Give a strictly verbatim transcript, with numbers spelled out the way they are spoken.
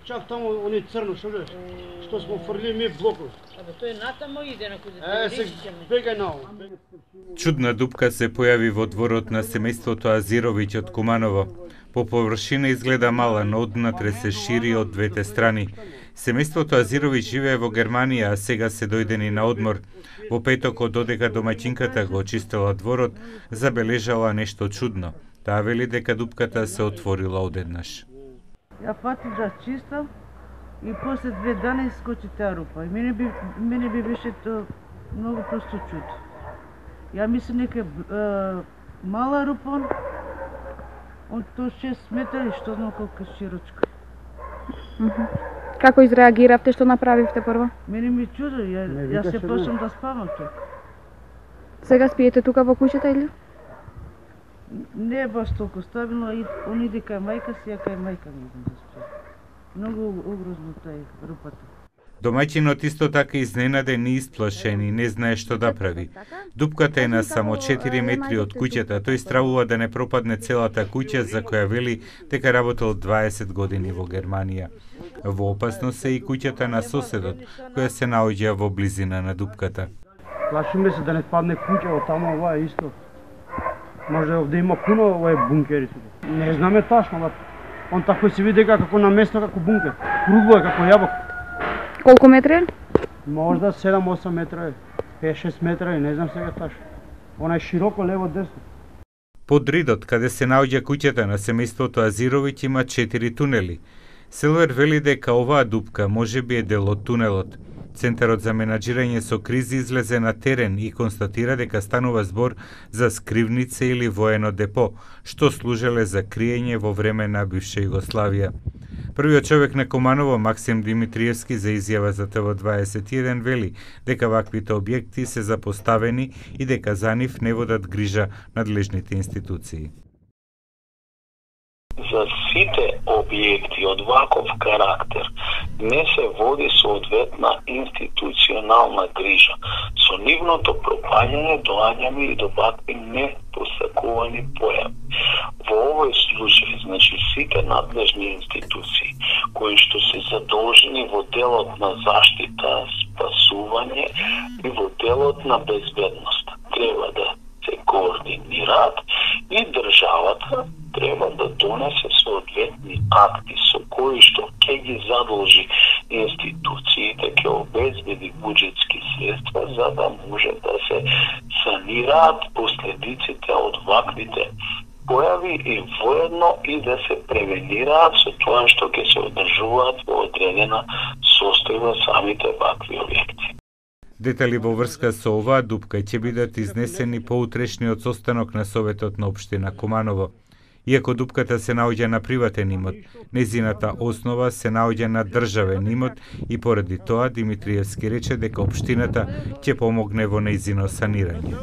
чак таму они црно, што гледаш? Што смо фрли ми блокот. Абе тој натамо иде на куде. Е, се бегај нао. Чудна дупка се појави во дворот на семејството Азировиќ од Куманово. По површина изгледа мала, но однатре се шири од двете страни. Семејството Азировиќ живее во Германија, а сега се дојдени на одмор. Во петокот, додека домаќинката го очистила дворот, забележала нешто чудно. Таа вели дека дупката се отворила одеднаш. Ја фатив да чистам и после две дани скочи таа рупа. И мене би, мене би беше то многу просто чудо. Ја мислам нека е мала рупа, од то шест метри, што знам колку е широчка. Како изреагиравте, што направивте прво? Мене ми чудо, ја, ја се почнам да спавам тука. Сега спиете тука во куќата или? Не е баш толку стабилно, и он иде кај мајка си, ја кај мајка ми идам да спијам. Многу угрозно тај рупата. Домаќинот исто така изненаден и исплашен и не знае што да прави. Дупката е на само четири метри од куќата, тој стравува да не пропадне целата куќа за која вели дека работел дваесет години во Германија. Во опасност е и куќата на соседот, која се наоѓа во близина на дупката. Плашиме се да не падне куќа од таму, ова е исто. Може овде има пуно овој бункери. Не знаме ташно, но он тако се види како на место како бункер. Кругло е како јабок. Колку метри? Можда седам-осам метра, пет-шест метра, не знам сега ташно. Она е широко лево-десно. Под ридот, каде се наоѓа куќата на семејството Азировиќ, има четири тунели. Селвер вели дека оваа дупка можеби е дел од тунелот. Центарот за менаџирање со кризи излезе на терен и констатира дека станува збор за скривница или воено депо, што служеле за криење во време на бивша Југославија. Првиот човек на Куманово, Максим Димитриевски, за изјава за Т В дваесет и еден вели дека ваквите објекти се запоставени и дека за нив не водат грижа надлежните институции. За сите објекти од ваков карактер не се води соодветна институционална грижа. Со нивното пропаѓање доаѓаме и до вакви непостакувани појави. Во овој случај, значи сите надлежни институции кои што се задолжени во делот на заштита, спасување и во делот на безбедност треба да се координираат и државата треба да донесе соодветни акти со кои што ќе ги задолжи институциите, ќе обезбеди буџетски средства за да може да се санираат последиците од ваквите појави и воедно и да се превенираат со тоа што ќе се одржуваат во одредена состојба самите вакви објекти. Детали во врска со оваа дупка ќе бидат изнесени по утрешниот состанок на Советот на општина Куманово. Иако дупката се наоѓа на приватен имот, незината основа се наоѓа на државен имот и поради тоа Димитриевски рече дека општината ќе помогне во нејзино санирање.